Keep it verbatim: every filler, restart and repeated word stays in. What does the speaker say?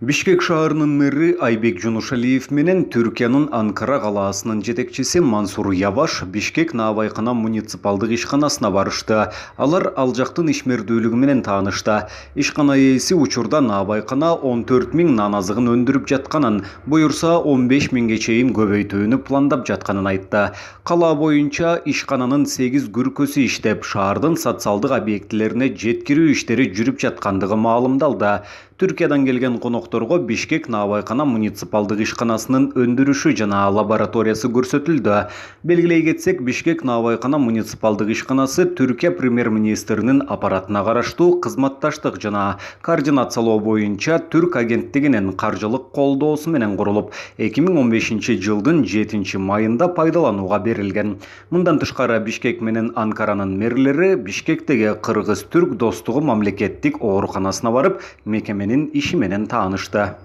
Бишкек шаарынын мэри Айбек Жунушалиев менен Түркиянын Анкара калаасынын жетекчиси Мансур Яваш Бишкек Наабайкана муниципалдык ишканасына барышты. Алар ал жактын ишмердүүлүгү менен таанышты. Ишкана ээси учурда Наабайкана он төрт миң нан азыгын өндүрүп жатканын, буюрса он беш миңге чейин көбөйтүүнү пландап жатканын айтты. Кала боюнча ишкананын сегиз күркөсү иштеп, шаардын социалдык объектилерине жеткирүү иштери жүрүп жаткандыгы маалымдалды. Түркиядан келген конокторго Бишкек Наабайкана муниципалдык ишканасынын өндүрүшү жана лабораториясы көрсөтүлдү. Белгилей кетсек, Бишкек Наабайкана муниципалдык ишканасы Түркия премьер-министринин аппаратына караштуу кызматташтык жана координациялоо боюнча Түрк агенттигинин каржылык колдоосу менен курулуп, эки миң он бешинчи жылдын жетинчи майында пайдаланууга берилген. Мындан тышкары Бишкек менен Анкаранын мэрлери Бишкектеги Кыргыз-Түрк достугу мамлекеттик ооруканасына барып, мекеменин иши менен таанышты.